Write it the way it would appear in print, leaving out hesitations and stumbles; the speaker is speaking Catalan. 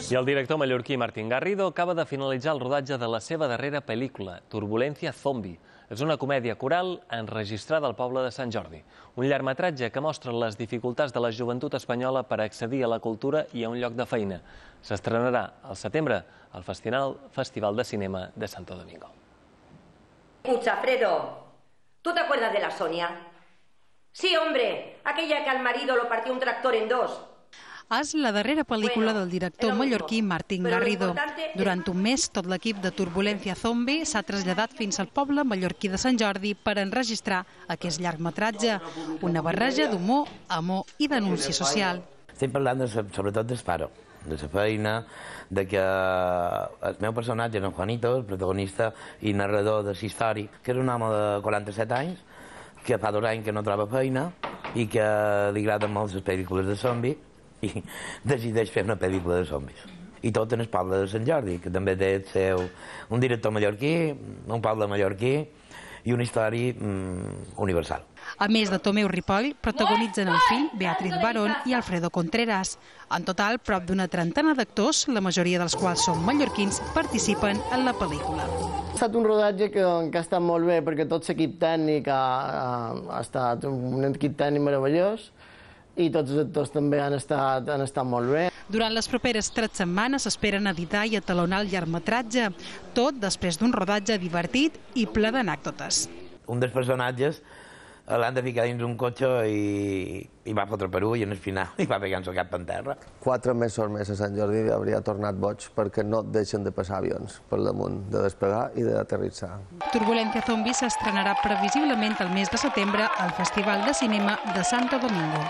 I el director mallorquí Martín Garrido acaba de finalitzar el rodatge de la seva darrera pel·lícula, Turbulencia Zombie. És una comèdia coral enregistrada al poble de Sant Jordi. Un llargmetratge que mostra les dificultats de la joventut espanyola per accedir a la cultura i a un lloc de feina. S'estrenarà al setembre al Festival de Cinema de Santo Domingo. Escucha, Fredo, ¿tú te acuerdas de la Sonia? Sí, hombre, aquella que al marido lo partió un tractor en dos. És la darrera pel·lícula del director mallorquí Martín Garrido. Durant un mes, tot l'equip de Turbulencia Zombie s'ha traslladat fins al poble mallorquí de Sant Jordi per enregistrar aquest llargmetratge, una barreja d'humor, amor i denúncia social. Estem parlant sobretot d'Esparo, de la feina, de que el meu personatge, en Juanito, el protagonista i narrador de la història, que és un home de 47 anys, que fa 2 anys que no troba feina i que li agraden molt les pel·lícules de zombi, i decideix fer una pel·lícula de zombis. I tot en el poble de Sant Jordi, que també té el seu un director mallorquí, un poble mallorquí i una història universal. A més de Tomeu Ripoll, protagonitzen el fill Beatriz Barón i Alfredo Contreras. En total, prop d'una trentena d'actors, la majoria dels quals són mallorquins, participen en la pel·lícula. Ha estat un rodatge que ha estat molt bé perquè tot l'equip tècnic ha estat un equip tècnic meravellós i tots els actors també han estat molt bé. Durant les properes 3 setmanes s'esperen editar i atalonar el llargmetratge, tot després d'un rodatge divertit i ple d'anècdotes. Un dels personatges l'han de ficar dins un cotxe i va fotre per ull i al final i va pegant-se el cap en terra. 4 mesos més a Sant Jordi hauria tornat boig perquè no deixen de passar avions per damunt, de despegar i d'aterrissar. Turbulencia Zombie s'estrenarà previsiblement el mes de setembre al Festival de Cinema de Santo Domingo.